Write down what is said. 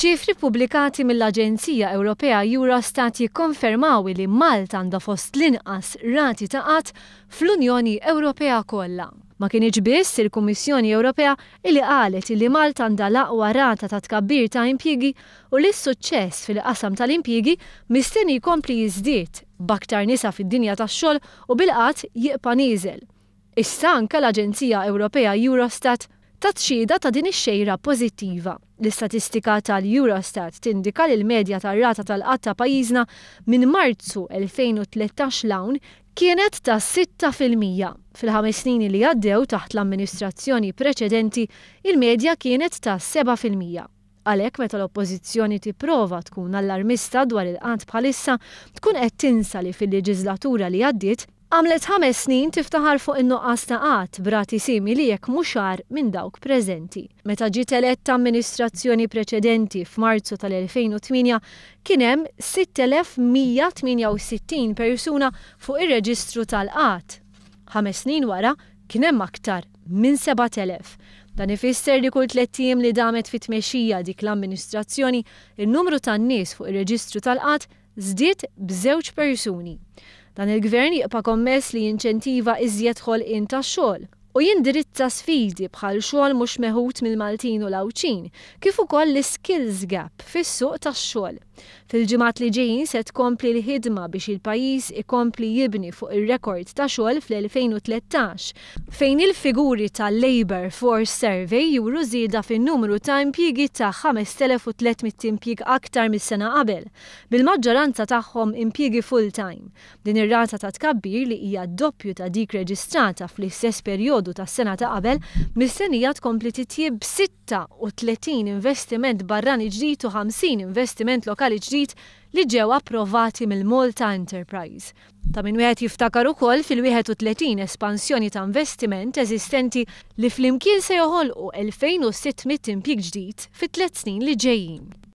Iċ-ċifri ppubblikati mill-aġenzija Ewropea Eurostat jikkonfermaw li Malta għandha fost l-inqas rati ta' qgħad fl-Unjoni Ewropea kollha. Ma kinitx biss il-Kummissjoni Ewropea li qalet li Malta għandha l-aqwa rata ta' tkabbir ta' impjiegi u li s-suċċess fil-qasam tal-impjiegi mistenni jkompli jiżdied b'aktar nisa fid-dinja tax-xogħol u bil-qgħad jibqa' nieżel. Issa anke l-aġenzija Ewropea Eurostat tat xhieda ta' din ix-xejra pożittiva. L-istatistika tal-Eurostat tindika li l-medja tar-rata tal-qgħad ta' pajjiżna minn Marzu 2013 'l hawn kienet ta' 6%. Fil-ħames snin li għaddew taħt l-amministrazzjoni preċedenti, il-medja kienet ta' 7%. Għalhekk meta l-Oppożizzjoni tipprova tkun allarmista dwar il-qgħad bħalissa, tkun qed tinsa li fil-leġiżlatura li għaddiet, għamlet ħames snin tiftaħar fuq in-nuqqas ta' qgħad b'rati simili jekk mhux agħar minn dawk preżenti. Meta ġiet eletta amministrazzjoni preċedenti f'Marzu tal-2008 kien hemm 6,168 persuna fuq ir-reġistru tal-qgħad. Ħames snin wara kien hemm aktar minn 7,000. Dan ifisser li kull tlett ijiem li damet fit-tmexxija dik l-amministrazzjoni, in-numru tan-nies fuq ir-reġistru tal-qgħad żdied b'żewġ persuni. Dan il-Gvern jibqa' kommess li jinċentiva iżjed ħolqien ta' xogħol u jindirizza sfidi bħal xogħol mhux meħud mill-Maltin u l-Għawdxin, kif ukoll l-iskills gap fis-suq tax-xogħol. Fil-ġimgħat li ġejjin se tkompli l-ħidma biex il-pajjiż ikompli jibni fuq ir-rekord ta' xogħol fl-2013, fejn il-figuri tal-Labour Force Survey juru żieda fin-numru ta' impjiegi ta' 5,300 impjieg aktar mis-sena qabel, bil-maġġoranza tagħhom impjiegi full-time. Din ir-rata ta' tkabbir li hija d-doppju ta' dik reġistrata fl-istess perjodu tas-sena ta' qabel mistennija tkompli titjieb b'36 investiment barrani ġdid u 50 investiment lokali ġdid li ġew approvati mill-Malta Enterprise. Ta' min wieħed jiftakar ukoll fil-31 espansjoni ta' investiment eżistenti li flimkien se joħolqu 2,600 impjieg ġdid fit-tliet snin li ġejjin.